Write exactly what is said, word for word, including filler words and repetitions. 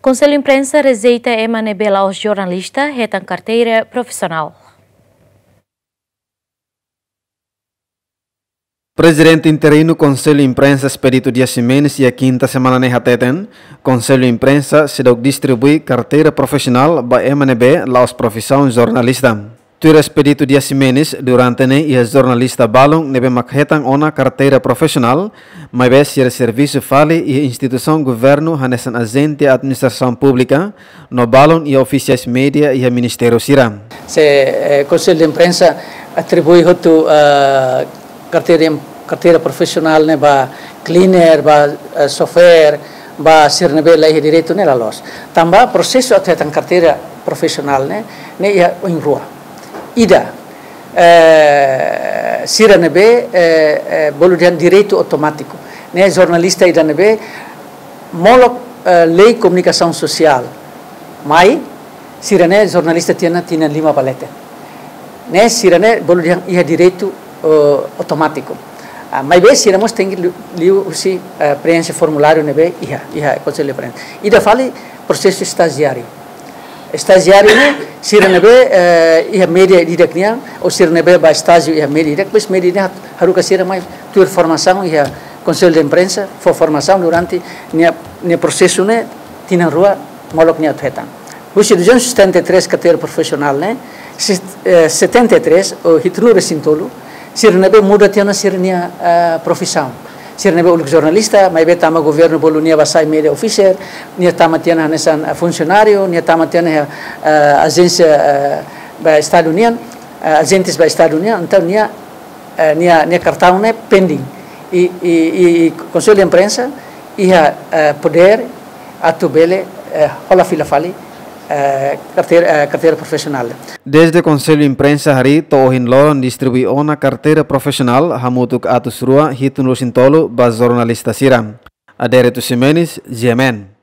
Konsellu Imprensa rejeita ema ne'ebé la'ós jornalista hetan karteira profisionál. Prezidente interinu Konsellu Imprensa Expedito Dias Ximenes iha kinta semana ne'e hateten, Konsellu Imprensa seidauk distribui karteira profisionál ba ema ne'ebé la'ós profisaun jornalista. Tuir Expedito Dias Ximenes, durante ne'e iha jornalista balun ne'ebé mak hetan ona karteira profisionál, maibé sira servisu fali iha instituisaun governu hanesan ajente administrasaun públika, no balun iha ofisiais média iha ministériu sira. Se, eh, Konsellu de Imprensa atribui hotu, eh, karteira, karteira profisionál ne'e ba cleaner, ba, eh, chauffeur, ba sira ne'ebé la iha direitu ne'e la loos. Tanba prosesu atu hetan karteira profisionál ne'e, ne'e iha oin rua. Ida, eh, sira ne'ebé, eh, eh, bolu dehan direitu automátiku. Ne'e jornalista ida ne'ebé molok, eh, lei komunikasaun sosiál. Mai, sira-ne'e jornalista tiha ona tinan lima ba leten. Ne'e sira-ne'e bolu dehan iha direitu, eh, automátiku. Ah, maibé sira mós tenke liu, liuhusi, eh, preenxe formuláriu ne'ebé iha, iha Konsellu Imprensa. Ida fali prosesu estajiáriu. Estajiáriu ne'e sira ne'ebé, eh, iha média ida-idak nian, ou sira ne'ebé ba estájiu iha média ida-idak, depois média ida-idak haruka sira mai tuir formasaun iha Konsellu de Imprensa, fó formasaun durante nia, nia prosesu ne'e tinan rua molok nia atu hetan. Husi duzentos e setenta e três karteira profisionál ne'e, se-, eh, setenta e três ou hitunulu-resin-tolu, sira ne'ebé muda tiha ona sira-nia, eh, profisaun. Sira ne'ebé uluk jornalista, maibé tanba governu bolu nia ba sai media officer, nia tama tiha ona hanesan, eh, funsionáriu, nia tama tiha ona, eh, ajénsia, eh, ba Estadu nian, eh, ajentes ba Estadu nian, entaun nia, eh, nia, nia kartaun ne'e pending. I, i, i, i Konsellu de Imprensa iha, eh, podér atu bele, eh, hola fila fali, eh, karteira, eh, karteira profisionál. Dezde Konsellu Imprensa harii to'o ohin loron distribui ona karteira profisionál hamutuk atus rua hitunulu-resin-tolu ba jornalista sira. Adérito Ximenes, G M N.